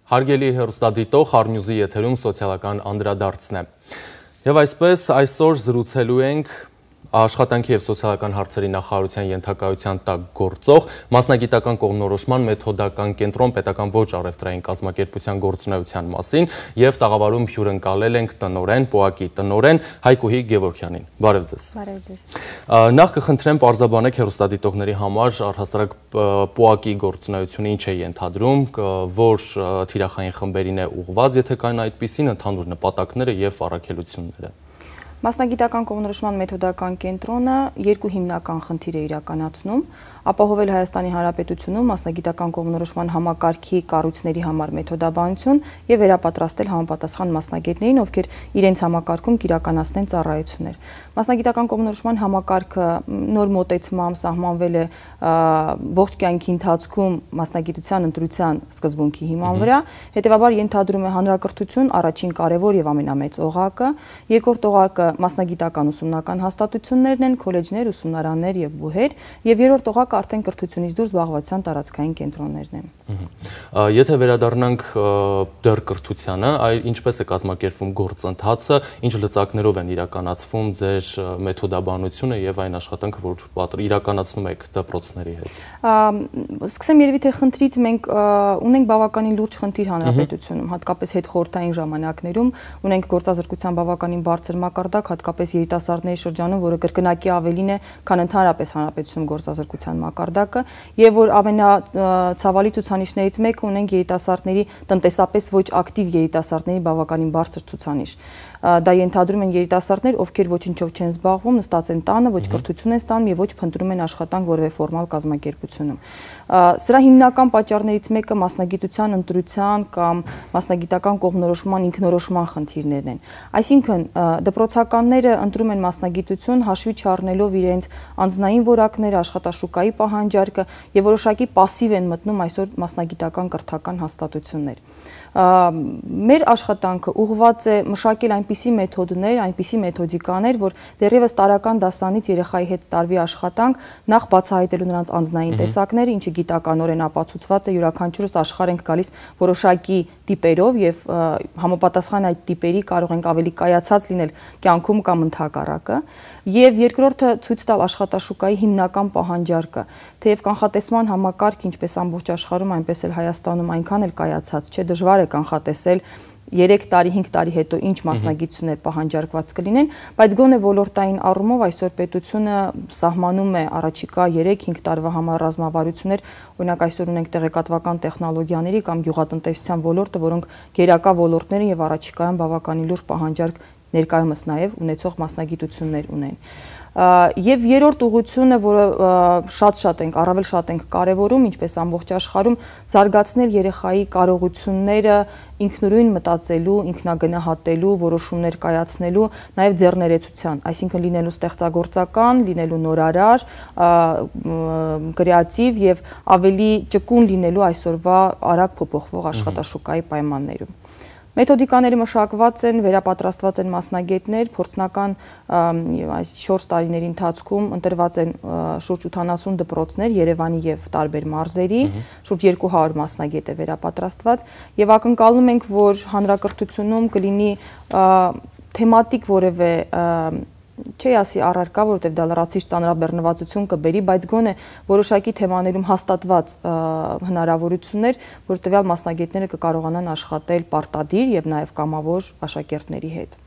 Հարգելի հեռուստադիտող, Հարնյուզի եթերում սոցիալական անդրադարձն է։ Եվ այսպես այսօր զրուցելու ենք Աշխատանքի և սոցիալական հարցերի նախարարության ենթակայության տակ գործող մասնագիտական կողմնորոշման մեթոդական կենտրոն պետական ոչ առևտրային կազմակերպության գործունեության մասին և տաղավարում հյուրընկալել ենք տնօրեն, ՊՕԱԿ-ի տնօրեն Հայկուհի Գևորգյանին։ Բարև ձեզ։ Բարև ձեզ։ Նախ կխնդրեմ պարզաբանեք հեռուստադիտողների համար առհասարակ ՊՕԱԿ-ի գործունեությունը ինչ է ենթադրում, որ թիրախային խմբերին է ուղղված, եթե կան այդպիսին, ընդհանուր նպատակները և առաքելությունները։ Մասնագիտական կողմնորոշման մեթոդական կենտրոնը երկու հիմնական խնդիր է իրականացնում, ապահովել Հայաստանի Հանրապետությունում մասնագիտական կողմնորոշման համակարգի կառույցների համար մեթոդաբանություն եւ վերապատրաստել համապատասխան մասնագետներին, ովքեր իրենց համակարգում կիրականացնեն ծառայություններ։ Մասնագիտական կողմնորոշման համակարգը նոր մոտեցմամբ սահմանվել է ողջ կյանքի ընթացքում մասնագիտության ընտրության սկզբունքի հիման վրա, հետեւաբար ենթադրում է հանրակրթություն առաջին կարևոր եւ ամենամեծ օղակը, երկրորդ օղակը մասնագիտական ուսումնական հաստատություններն են, քոլեջներ, ուսումնարաններ եւ բուհեր, եւ երրորդ օղակը արդեն կրթությունից դուրս զբաղվածության տարածքային կենտրոններն են։ Եթե վերադառնանք դեռ կրթությանը, ինչպես է կազմակերպվում գործընթացը, ինչ լծակներով են իրականացվում ձեր մեթոդաբանությունը եւ այն աշխատանքը, որ իրականացնում եք դպրոցների հետ։ Սկսեմ երևի թե խնդրից մենք ունենք բավականին լուրջ խնդիր հանրապետությունում, հատկապես հետխորհրդային ժամանակներում ունենք գործազրկության բավականին բարձր մակարդակ, հատկապես երիտասարդների շրջանում, որը կրկնակի ավելին է, քան ընդհանրապես հանրապետությունում գործազրկության մակարդակը, եւ որ ամենացավալի ցուցանիշներից մեկը ունենք երիտասարդների տնտեսապես ոչ ակտիվ երիտասարդների բավականին բարձր ցուցանիշ։ Դա ենթադրում են երիտասարդներ, ովքեր ոչինչով չեն զբաղվում, նստած են տանը, ոչ կրթություն են ստանում եւ ոչ փնտրում են աշխատանք որևէ ֆորմալ կազմակերպությունում։ Սրա հիմնական պատճառներից մեկը մասնագիտության ընտրության կամ մասնագիտական կողմնորոշման ինքնորոշման խնդիրներն են։ Այսինքն դպրոցականները ընտրում են մասնագիտություն հաշվի չառնելով իրենց անձնային որակները, աշխատաշուկայի պահանջարկը եւ որոշակի пассив են մտնում այսօր մասնագիտական կրթական հաստատություններ։ Մեր աշխատանքը ուղղված է մշակել այնպիսի մեթոդներ, այնպիսի մեթոդիկաներ, որ դեռևս տարական դասանից երեխայի հետ տարվի աշխատանք, նախ բացահայտելու նրանց անձնային տեսակները, ինչը գիտականորեն ապացուցված է, յուրաքանչյուրս աշխարհ ենք գալիս որոշակի տիպերով եւ համապատասխան այդ տիպերի կարող ենք ավելի կայացած լինել կյանքում կամ ընդհակառակը, եւ երկրորդը ցույց տալ աշխատաշուկայի հիմնական պահանջարկը, թեև կանխատեսման համակարգ ինչպես ամբողջ աշխարհում, այնպես էլ Հայաստանում այնքան էլ կայացած չէ, դժվար է կանխատեսել 3 տարի, 5 տարի հետո ինչ մասնագիտություններ պահանջարկված կլինեն, բայց գոնե ոլորտային առումով այսօր պետությունը սահմանում է առաջիկա 3-5 տարվա համար ռազմավարություններ, օրինակ այսօր ունենք տեղեկատվական տեխնոլոգիաների կամ գյուղատնտեսության ոլորտը, որոնք գերակա ոլորտներ են եւ առաջիկայում բավականին լուրջ պահանջարկ ներկայումս նաեւ ունեցող մասնագիտություններ ունեն։ Եվ երրորդ ուղղությունը, որը առավել շատ ենք կարևորում, ինչպես ամբողջ աշխարհում, զարգացնել երեխայի կարողությունները ինքնուրույն մտածելու, ինքնագնահատելու, որոշումներ կայացնելու, նաև ձեռներեցության, այսինքն լինելու ստեղծագործական, լինելու նորարար, կրեատիվ եւ ավելի ճկուն լինելու այսօրվա արագ փոփոխվող աշխատաշուկայի պայմաններում։ Մեթոդիկաները մշակված են, վերապատրաստված են մասնագետներ, փորձնական այս 4 տարիների ընթացքում ընտրված են շուրջ 80 դպրոցներ Երևանի եւ տարբեր մարզերի, շուրջ 200 մասնագետ է վերապատրաստված եւ ակնկալում ենք, որ հանրակրթությունում կլինի թեմատիկ որևէ չի ասի առարկա, որովհետև դա լրացուցիչ ծանրաբեռնվածություն կբերի, բայց գոնե որոշակի թեմաներում հաստատված հնարավորություններ, որ տվյալ մասնագետները կկարողանան աշխատել պարտադիր եւ նաեւ կամավոր աշակերտների հետ։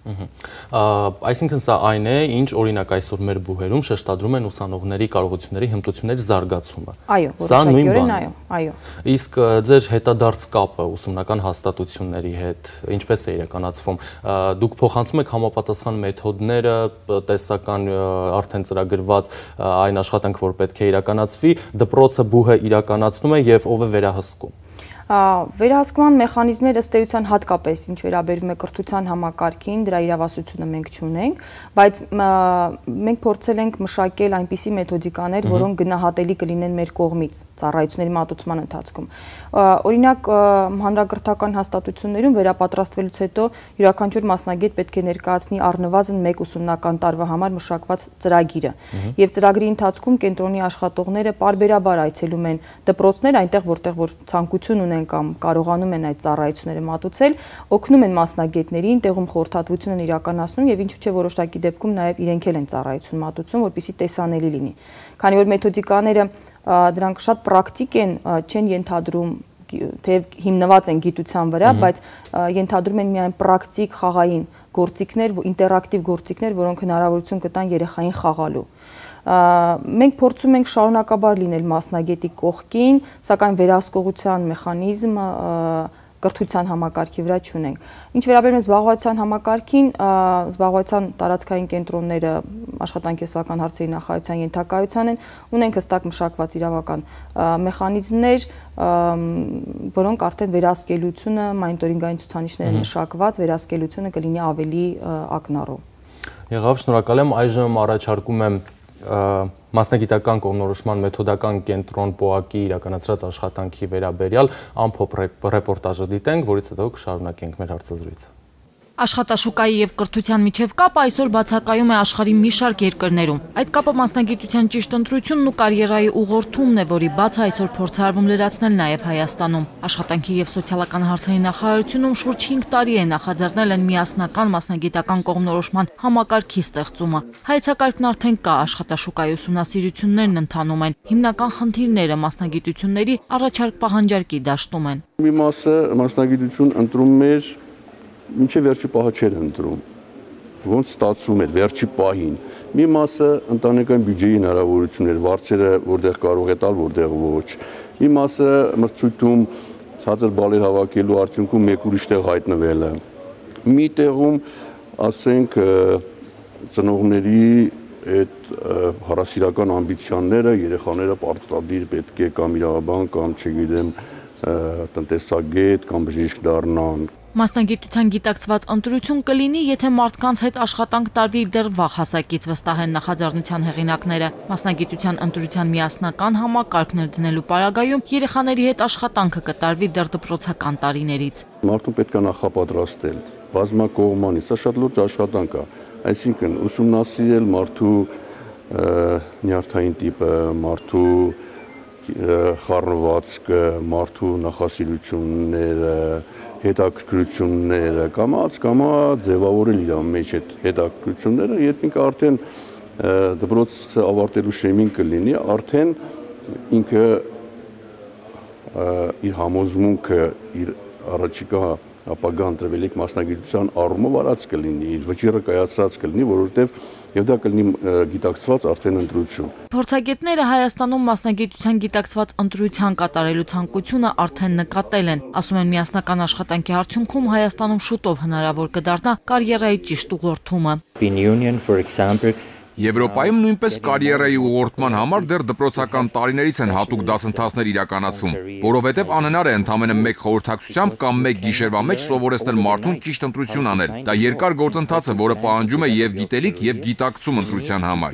Այսինքն սա այն է, ինչ օրինակ այսօր մեր բուհերում շեշտադրում են ուսանողների կարողությունների հմտությունների զարգացումը։ Այո, որոշակիորեն այո։ Իսկ ձեր հետադարձ կապը ուսումնական հաստատությունների հետ ինչպես է իրականացվում։ Դուք փոխանցում եք համապատասխան մեթոդները, տեսական արդեն ծրագրված այն աշխատանքը, որ պետք է իրականացվի, դպրոցը բուհը իրականացնում է եւ ով է վերահսկում։ Վերահսկման մեխանիզմները ըստ էության հատկապես ինչ վերաբերում է կրթության համակարգին, դրա իրավասությունը մենք չունենք, բայց մենք փորձել ենք մշակել այնպիսի մեթոդիկաներ, որոնք գնահատելի կլինեն մեր կողմից ծառայությունների մատուցման ընթացքում։ Օրինակ հանրակրթական հաստատություններում վերապատրաստվելուց հետո յուրաքանչյուր մասնագետ պետք է ներկայացնի առնվազն 1 ուսումնական տարվա համար մշակված ծրագիրը։ Եվ ծրագրի ընթացքում կենտրոնի աշխատողները պարբերաբար այցելում են դպրոցներ, այնտեղ որտեղ որ ցանկություն ունեն են կամ կարողանում են այդ ծառայությունները մատուցել, օգնում են մասնագետներին, տեղում խորհրդատվություն են իրականացնում եւ ինչու՞ չէ որոշակի դեպքում նաեւ իրենք էլ են ծառայություն մատուցում, որպեսզի տեսանելի լինի։ Քանի որ մեթոդիկաները դրանք շատ պրակտիկ են, չեն ենթադրում թեև հիմնված են գիտության վրա, բայց ենթադրում են միայն պրակտիկ խաղային գործիքներ, ինտերակտիվ գործիքներ, որոնք հնարավորություն կտան երեխային խաղալու։ Մենք փորձում ենք շարունակաբար լինել մասնագետի կողքին, սակայն վերահսկողության մեխանիզմ կրթության համակարգի վրա չունենք։ Ինչ վերաբերում է զբաղվածության համակարգին, զբաղվածության տարածքային կենտրոնները աշխատանքի սոցիալական հարցերի նախարարության ենթակայության են, ունենք հստակ մշակված իրավական մեխանիզմներ, որոնք արդեն վերահսկելիությունը, մոնիտորինգային ցուցանիշներ են մշակված, վերահսկելիությունը կլինի ավելի ակնառու։ Եղավ, շնորհակալ եմ, այժմ առաջարկում եմ մասնագիտական կողմնորոշման մեթոդական կենտրոն ՊՕԱԿ-ի իրականացրած աշխատանքի վերաբերյալ ամփոփ ռեպորտաժը դիտենք, որից հետո կշարունակենք մեր հարցազրույցը։ Աշխատաշուկայի եւ կրթության միջև կապը այսօր բացակայում է աշխարհի մի շարք երկրներում։ Այդ կապը մասնագիտության ճիշտ ընտրությունն ու կարիերայի ուղղորդումն է, որի բացը այսօր փորձարվում լրացնել նաեւ Հայաստանում։ Աշխատանքի եւ սոցիալական հարցերի նախարարությունում շուրջ 5 տարի է նախաձեռնել են միասնական մասնագիտական կողմնորոշման համակարգի ստեղծումը։ Հայեցակարգն արդեն կա, աշխատաշուկայի ուսումնասիրություններն ընթանում են։ Հիմնական խնդիրները մասնագիտությունների առաջարկ պահանջարկի դաշտում են։ Մի մասը մասնագիտություն ընտրում էր մինչև վերջի պահը չէր ընտրում, ոնց ստացվում էր վերջի պահին։ Մի մասը ընտանեկան բյուջեի հնարավորություններ, վարձերը որտեղ կարող է տալ, որտեղ ոչ։ Մի մասը մրցույթում ցածր բալեր հավաքելու արդյունքում մեկ ուրիշ տեղ հայտնվելը։ Մի տեղում, ասենք, ծնողների այդ հարասիրական ամբիցիաները երեխաները պարտադիր պետք է կամ իրավաբան, կամ չգիտեմ, տնտեսագետ կամ բժիշկ դառնան։ Մասնագիտության գիտակցված ընտրություն կլինի, եթե մարդկանց հետ աշխատանք տարվի դեռ վաղ հասակից, վստահ են նախաձեռնության հեղինակները։ Մասնագիտության ընտրության միասնական համակարգներ դնելու պարագայում երեխաների հետ աշխատանքը կտարվի դեռ դպրոցական տարիներից։ Մարդուն պետք է նախապատրաստել, բազմակողմանի, սա շատ լուրջ աշխատանք է, այսինքն ուսումնասիրել մարդու նյարդային տիպը, մարդու խառնվածքը, մարդու նախասիրությունները, հետաքրքրությունները, կամաց ձևավորել իր մեջ այդ հետաքրքրությունները, երբ ինքը արդեն դպրոցը ավարտելու շեմին կլինի, արդեն ինքը իր համոզմունքը, իր առաջիկա ապագա ընտրվելիք մասնագիտության առումով արած կլինի, իր վճիռը կայացրած կլինի, որովհետև եւ դա կլինի գիտակցված արդեն ընտրություն։ Փորձագետները Հայաստանում մասնագիտության գիտակցված ընտրության կատարելու ցանկությունը արդեն նկատել են։ Ասում են միասնական աշխատանքի արդյունքում Հայաստանում շուտով հնարավոր կդառնա կարիերայի ճիշտ ուղղորդումը։ Եվրոպայում նույնպես կարիերայի ուղղորդման համար դեռ դպրոցական տարիներից են հատուկ դասընթացներ իրականացվում, որովհետև անհնար է ընդամենը մեկ խորհրդակցությամբ կամ մեկ գիշերվա մեջ սովորեցնել մարդուն ճիշտ ընտրություն անել։ Դա երկար գործընթաց է, որը պահանջում է եւ գիտելիք, եւ գիտակցում ընտրության համար։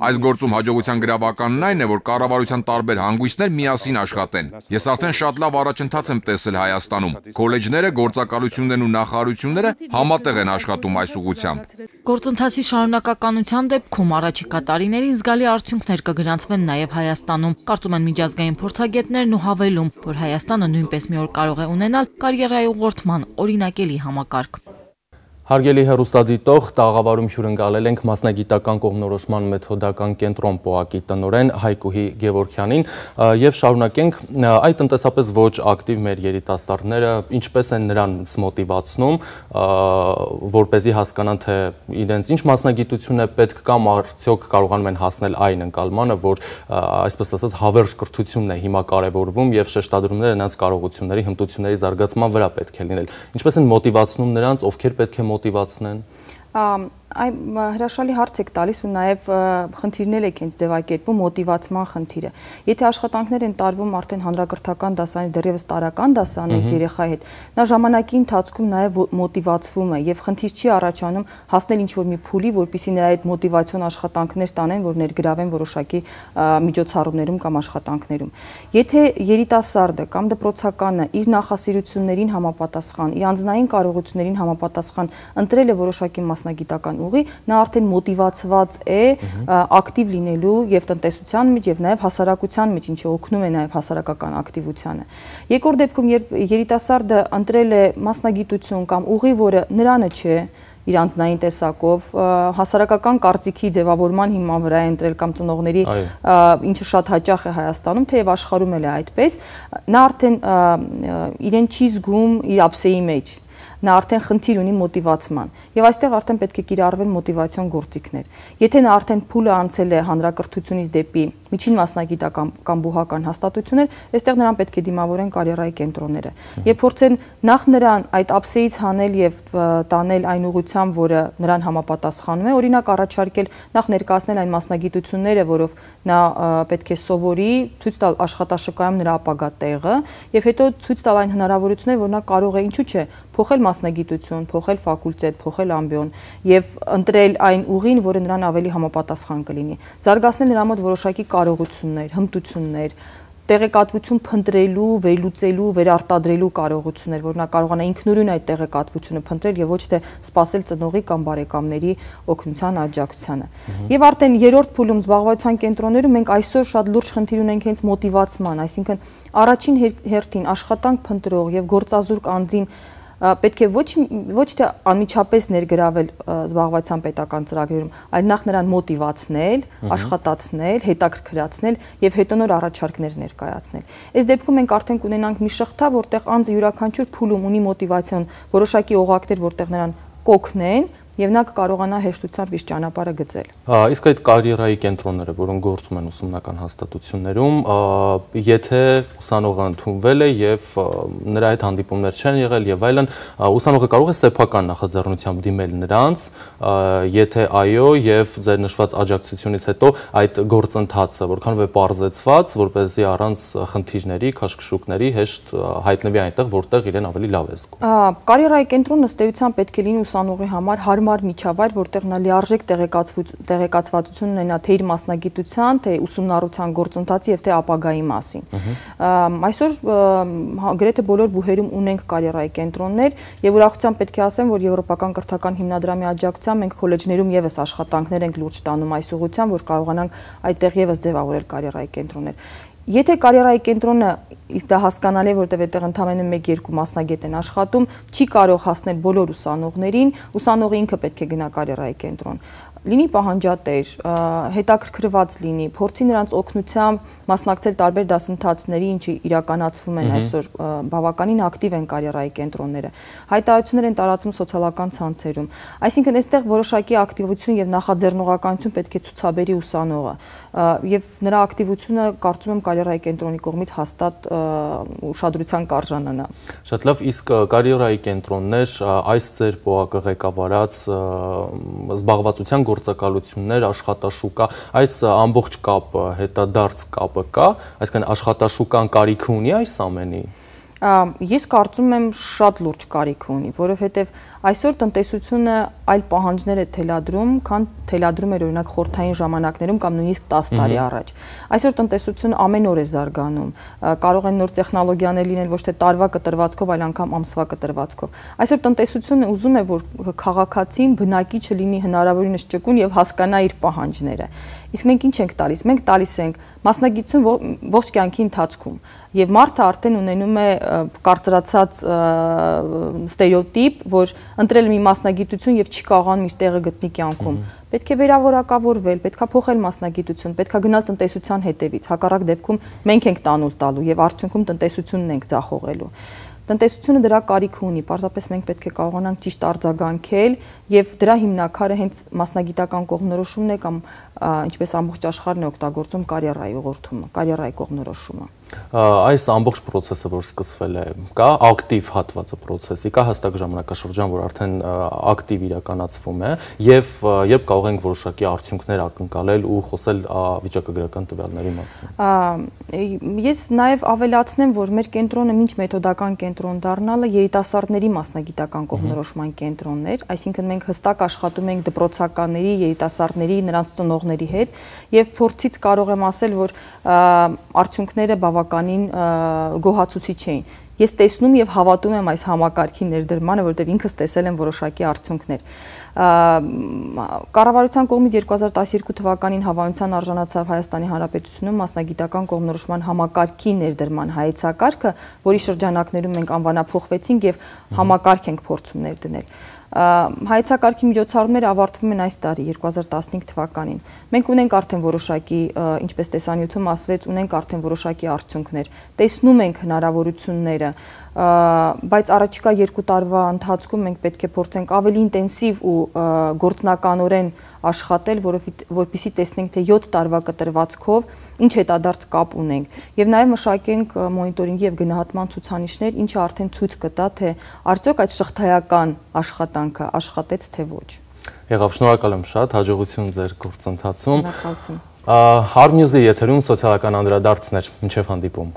Այս գործում հաջողության գրավականն այն է, որ կառավարության տարբեր հանգույցներ միասին աշխատեն։ Ես արդեն շատ լավ առաջընթաց եմ տեսել Հայաստանում։ Քոլեջները, գործակալություններն ու նախարարությունները համատեղ են աշխատում այս ուղղությամբ։ Գործընթացի շարունակականության դեպքում առաջիկա տարիներին զգալի արդյունքներ կգրանցվեն նաև Հայաստանում։ Կարծում են միջազգային փորձագետներն ու հավելում, որ Հայաստանը նույնպես մի օր կարող է ունենալ կարիերայի ուղղորդման օրինակելի համակարգ։ Հարգելի հեռուստադիտող, տաղավարում հյուրընկալել ենք մասնագիտական կողմնորոշման մեթոդական կենտրոն ՊՕԱԿ-ի տնօրեն Հայկուհի Գևորգյանին եւ շարունակենք այդ տնտեսապես ոչ ակտիվ մեր երիտասարդները ինչպես են նրանց մոտիվացնում, որպեսզի հասկանան թե իրենց ինչ մասնագիտություն է պետք կամ արդյոք կարողանում են հասնել այն ընկալմանը, որ այսպես ասած հավերժ կրթությունն է հիմա կարևորվում եւ շեշտադրումները նրանց կարողությունների, հմտությունների զարգացման վրա պետք է լինել։ Ինչպես են մոտիվացնում նրանց, ովքեր պետք է մոտիվացնեն։ Այ հրաշալի հարց եք տալիս ու նաև խնդիրներ եք հենց ձևակերպում մոտիվացման խնդիրը։ Եթե աշխատանքներ են տարվում արդեն հանրակրթական դասարանի դեռևս տարրական դասարանից երեխայի հետ, նա ժամանակի ընթացքում նաև մոտիվացվում է եւ խնդիր չի առաջանում հասնել ինչ-որ մի փուլի, որպեսզի նրա այդ մոտիվացիոն աշխատանքներ տանեն, որ ներգրավեն որոշակի միջոցառումներում կամ աշխատանքներում։ Եթե երիտասարդը կամ դպրոցականը իր նախասիրություններին համապատասխան, իր անձնային կարողություններին համապատասխան ընտրել է որոշակի մասնագիտական ուղի, նա արդեն մոտիվացված է ակտիվ լինելու եւ տնտեսության մեջ եւ նաեւ հասարակության մեջ, ինչը օգնում է նաեւ հասարակական ակտիվությանը։ Երկրորդ դեպքում, երբ երիտասարդը ընտրել է մասնագիտություն կամ ուղի, որը նրանը չէ, իր անձնային տեսակով, հասարակական կարծիքի ձևավորման հիման վրա է ընտրել կամ ծնողների, ինչը շատ հաճախ է Հայաստանում, թեև աշխարհում էլ է այդպես, նա արդեն իրեն չի զգում իր ափսեի մեջ, նա արդեն խնդիր ունի մոտիվացման եւ այստեղ արդեն պետք է կիրառվեն մոտիվացիոն գործիքներ։ Եթե նա արդեն փուլը անցել է հանրակրթությունից դեպի միջին մասնագիտական կամ բուհական հաստատություններ, այստեղ նրան պետք է դիմավորեն կարիերայի կենտրոնները եւ փորձեն նախ նրան այդ ափսեից հանել եւ տանել այն ուղղությամբ, որը նրան համապատասխանում է, օրինակ առաջարկել նախ ներկայացնել այն մասնագիտությունները, որով նա պետք է սովորի, ցույց տալ աշխատաշրջանում նրա ապագա տեղը եւ հետո ցույց տալ այն հնարավորությունները, որ նա կարող է, ինչու՞ չէ, փոխել մասնագիտություն, փոխել ֆակուլտետ, փոխել ամբիոն եւ ընտրել այն ուղին, որը նրան ավելի համապատասխան կլինի։ Զարգացնել նրա մոտ որոշակի կարողություններ, հմտություններ, տեղեկատվություն փնտրելու, վերլուծելու, վերարտադրելու կարողություններ, որ նա կարողանա ինքնուրույն այդ տեղեկատվությունը փնտրել եւ ոչ թե սпасել ծնողի կամ բարեկամների օգնության աջակցությանը։ Եվ արդեն երրորդ փուլում զբաղվածության կենտրոններում մենք այսօր շատ լուրջ խնդիր ունենք հենց մոտիվացման, այսինքն առաջին հերթին աշխատանք փնտրող եւ գործազուրկ անձին պետք է ոչ թե անմիջապես ներգրավել զբաղվածության պետական ծրագրերում, այլ նախ նրան մոտիվացնել, աշխատացնել, հետաքրքրացնել եւ հետո նոր առաջարկներ ներկայացնել։ Այս դեպքում մենք արդեն կունենանք մի շղթա, որտեղ անձը յուրաքանչյուր փուլում ունի մոտիվացիոն, որոշակի օղակներ, որտեղ նրան կօգնեն եւ նա կկարողանա հեշտությամբ իր ճանապարհը գծել։ Իսկ այդ կարիերայի կենտրոնները, որոնք գործում են ուսումնական հաստատություններում, եթե ուսանողը ընդունվել է եւ նրա հետ հանդիպումներ չեն եղել եւ այլն, ուսանողը կարող է սեփական նախաձեռնությամբ դիմել նրանց, եթե այո, եւ ձեր նշված աջակցությունից հետո այդ գործընթացը որքանով է պարզեցված, որպեսզի առանց խնդիրների, քաշքշուկների հեշտ հայտնվի այնտեղ, որտեղ իրեն ավելի լավ է զգում։ Կարիերայի կենտրոնը ըստ էության պետք է լինի ուսանողի համար հարմար միջավայր, որտեղ նա լիարժեք տեղեկացվածություն ունենա թե իր մասնագիտության, թե ուսումնառության գործընթացի եւ թե ապագայի մասին։ Այսօր գրեթե բոլոր բուհերում ունենք կարիերայի կենտրոններ եւ ուրախությամբ պետք է ասեմ, որ Եվրոպական կրթական հիմնադրամի աջակցությամբ մենք քոլեջներում եւս աշխատանքներ ենք լուրջ տանում այս ուղղությամբ, որ կարողանանք այդտեղ եւս ձևավորել կարիերայի կենտրոններ։ Եթե կարիերայի կենտրոնը դա հասկանալի է, որտեղ այդտեղ ընդամենը 1-2 մասնագետ են աշխատում, չի կարող հասնել բոլոր ուսանողներին, ուսանողը ինքը պետք է գնա կարիերայի կենտրոն։ Լինի պահանջատեր, հետաքրքրված լինի, փորձի նրանց օգնությամբ մասնակցել տարբեր դասընթացների, ինչը իրականացվում են այսօր բավականին ակտիվ են կարիերայի կենտրոնները։ Հայտարարություններ են տարածում սոցիալական ցանցերում։ Այսինքն այստեղ որոշակի ակտիվություն եւ նախաձեռնողականություն պետք է ցուցաբերի ուսանողը եւ նրա ակտիվությունը կարծում եմ կարիերայի կենտրոնի կողմից հաստատ ուշադրության կարժանանա։ Շատ լավ, իսկ կարիերայի կենտրոններ այս ձեր ՊՕԱԿ ղեկավարած զբաղվածության գործակալություններ, աշխատաշուկա, այս ամբողջ կապը, հետադարձ կապը կա, այսինքն աշխատաշուկան կարիք ունի այս ամենի։ Ես կարծում եմ շատ լուրջ կարիք ունի, որովհետև այսօր տնտեսությունը այլ պահանջներ է թելադրում, քան թելադրում էր օրինակ խորհրդային ժամանակներում կամ նույնիսկ 10 տարի առաջ։ Այսօր տնտեսությունը ամեն օր է զարգանում, կարող են նոր տեխնոլոգիաներ լինել ոչ թե տարվա կտրվածքով, այլ անգամ ամսվա կտրվածքով։ Այսօր տնտեսությունը ուզում է, որ քաղաքացին բնակիչը լինի հնարավորինս ճկուն եւ հասկանա իր պահանջները։ Իսկ մենք ինչ ենք տալիս։ Մենք տալիս ենք մասնագիտություն ողջ կյանքի ընթացքում եւ մարդը արդեն ունենում է կարծրացած ստերեոտիպ, որ ընտրել մի մասնագիտություն եւ չի կարողանում իր տեղը գտնի կյանքում։ Պետք է վերավորակավորվել, պետք է փոխել մասնագիտություն, պետք է գնալ տնտեսության հետևից։ Հակառակ դեպքում մենք ենք տանուլ տալու եւ արդյունքում տնտեսությունն ենք ձախողելու։ Տնտեսությունը դրա կարիք ունի, պարզապես մենք պետք է կարողանանք ճիշտ արձագանքել եւ դրա հիմնակարը հենց մասնագիտական կողմնորոշումն է կամ ինչպես ամբողջ աշխարհն է օգտագործում կարիերայի ուղղորդումը, կարիերայի կողմնորոշումը։ Այս ամբողջ process-ը, որ սկսվել է, կա ակտիվ հատվածը process-ի, կա հստակ ժամանակաշրջան, որ արդեն ակտիվ իրականացվում է եւ երբ կարող ենք որոշակի արդյունքներ ակնկալել ու խոսել վիճակագրական տվյալների մասին։ Ես նաեւ ավելացնեմ, որ մեր կենտրոնը ոչ մեթոդական կենտրոն դառնալը երիտասարդների մասնագիտական կողմնորոշման կենտրոնն էր, այսինքն մենք հստակ աշխատում ենք դպրոցականների, երիտասարդների, նրանց ծնողների հետ եւ փորձից կարող եմ ասել, որ արդյունքները բավականին գոհացուցիչ էին։ Ես տեսնում եւ հավատում եմ այս համակարգի ներդրմանը, որովհետեւ ինքս տեսել եմ որոշակի արդյունքներ։ Կառավարության կողմից 2012 թվականին հավանության արժանացավ Հայաստանի Հանրապետությունում մասնագիտական կողմնորոշման համակարգի ներդրման հայեցակարգը, որի շրջանակներում մենք անվանափոխվեցինք եւ համակարգ ենք փորձում ներդնել։ Հայեցակարգի միջոցառումները ավարտվում են այս տարի 2015 թվականին։ Մենք ունենք արդեն որոշակի, ինչպես տեսանյութում ասվեց, ունենք արդեն որոշակի արդյունքներ։ Տեսնում ենք հնարավորությունները, բայց առաջիկա 2 տարվա ընթացքում մենք պետք է փորձենք ավելի ինտենսիվ ու գործնականորեն աշխատել, որպեսզի տեսնենք, թե 7 տարվա կտրվածքով ինչ հետադարձ կապ ունենք եւ նաեւ մշակենք մոնիտորինգի եւ գնահատման ցուցանիշներ, ինչը արդեն ցույց կտա, թե արդյոք այդ շղթայական աշխատանքը աշխատեց թե ոչ։ Եղավ, շնորհակալ եմ շատ, հաջողություն ձեր գործընթացում։ Շնորհակալություն։ Harnews-ի եթերում սոցիալական անդրադարձներ, մինչև հանդիպում։